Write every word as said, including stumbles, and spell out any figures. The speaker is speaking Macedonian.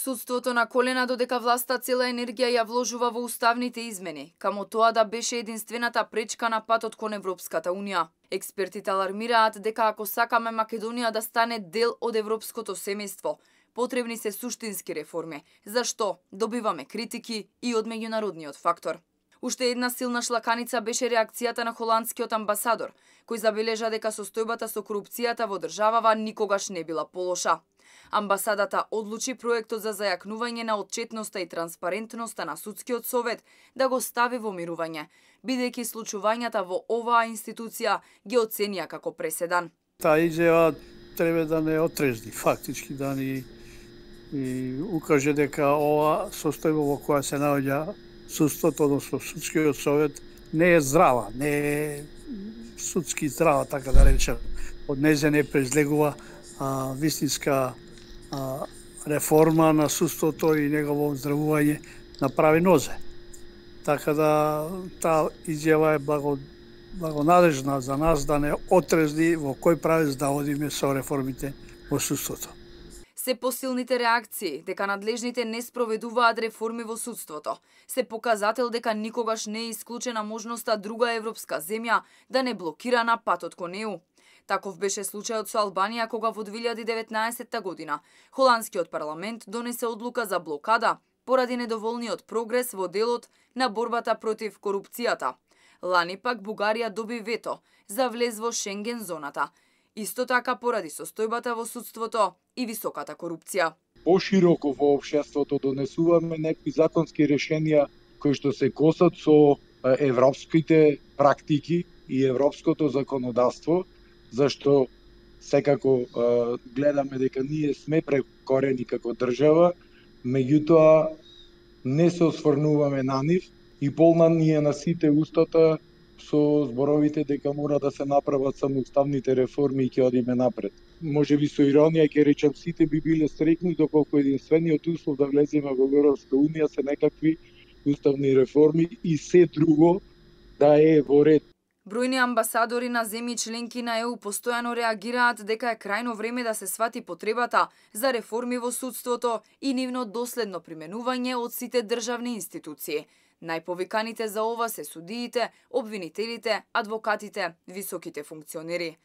Судството на колена додека власта цела енергија ја вложува во уставните измени, камо тоа да беше единствената пречка на патот кон Европската Унија. Експертите алармираат дека ако сакаме Македонија да стане дел од европското семејство, потребни се суштински реформи, зашто добиваме критики и од меѓународниот фактор. Уште една силна шлаканица беше реакцијата на холандскиот амбасадор, кој забележа дека состојбата со корупцијата во државава никогаш не била полоша. Амбасадата одлучи проектот за зајакнување на отчетноста и транспарентноста на судскиот совет да го стави во мирување, бидејќи случувањата во оваа институција ги оценија како преседан. Таа изјава треба да не отрезни, фактички да ни и укаже дека ова состојба во која се наоѓа судството, односно судскиот совет, не е здрава, не е судски здрава, така да речем. Од незе не презлегува а, вистинска а, реформа на судството и негово оздравување на прави нозе. Така да таа изјава е благо, благонадежна за нас да не отрезни во кој правец да одиме со реформите во судството. Се посилните реакции дека надлежните не спроведуваат реформи во судството, се показател дека никогаш не е исклучена можноста друга европска земја да не блокира на патот кон Е У. Таков беше случајот со Албанија кога во две илјади и деветнаесетта година холандскиот парламент донесе одлука за блокада поради недоволниот прогрес во делот на борбата против корупцијата. Лани пак Бугарија доби вето за влез во Шенген зоната, исто така поради состојбата во судството и високата корупција. Пошироко во општеството донесуваме некои законски решенија кои што се косат со европските практики и европското законодавство, зашто секако гледаме дека ние сме прекорени како држава, меѓутоа не се осврнуваме на нив и полна ни е на сите устата со зборовите дека мора да се направат само уставните реформи и ќе одиме напред. Може би со иронија ќе речам сите би биле среќни доколку единствениот услов да влеземе во Европска Унија се некакви уставни реформи и се друго да е во ред. Бројни амбасадори на земји членки на Е У постојано реагираат дека е крајно време да се свати потребата за реформи во судството и нивно доследно применување од сите државни институции. Најповиканите за ова се судиите, обвинителите, адвокатите, високите функционери.